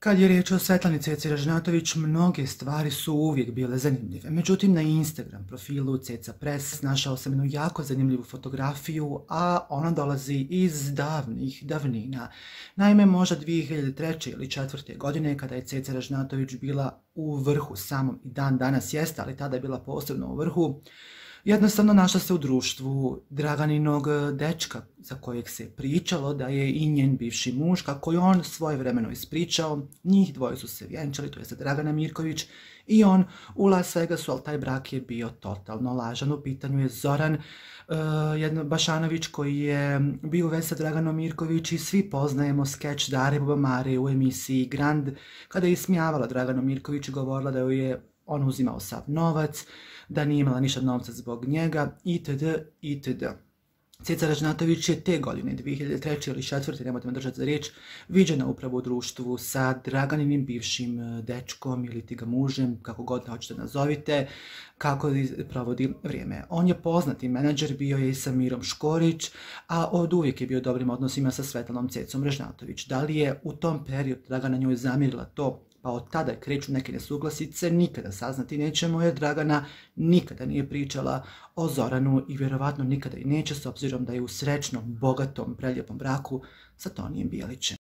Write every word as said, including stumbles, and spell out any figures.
Kad je riječ o Svetlani Ceci Ražnjatović, mnoge stvari su uvijek bile zanimljive. Međutim, na Instagram profilu Ceca Press našao sam jednu jako zanimljivu fotografiju, a ona dolazi iz davnih davnina. Naime, možda dvije hiljade treće ili četvrte godine, kada je Ceca Ražnjatović bila u vrhu samom i dan danas jeste, ali tada je bila posebno u vrhu, jednostavno našla se u društvu Draganinog dečka za kojeg se pričalo da je i njen bivši muž, kako je on svojevremeno ispričao. Njih dvoje su se vjenčali, to je Dragana Mirković i on u Las Vegasu, ali taj brak je bio totalno lažan. U pitanju je Zoran uh, jedno, Bašanović koji je bio u vezi sa Draganom Mirković i svi poznajemo skeč Dare Bubamare u emisiji Grand, kada je ismijavala Draganu Mirković i govorila da joj je on uzimao sav novac, da nije imala ništa novca zbog njega, itd. itd. Ceca Ražnjatović je te godine, dvije hiljade treće ili četvrte, nemojte me držati za riječ, viđena upravo u društvu sa Draganinim bivšim dečkom ili ti ga mužem, kako god hoćete nazovite, kako provodi vrijeme. On je poznati menadžer, bio je i sa Mirom Škorić, a od uvijek je bio u dobrim odnosima sa Svetlanom Cecom Ražnjatović. Da li je u tom periodu Dragana njoj zamjerila to, pa od tada kreću neke nesuglasice, nikada saznati nećemo, jer Dragana nikada nije pričala o Zoranu i vjerovatno nikada i neće, s obzirom da je u srećnom, bogatom, prelijepom braku sa Tonijem Bijelićem.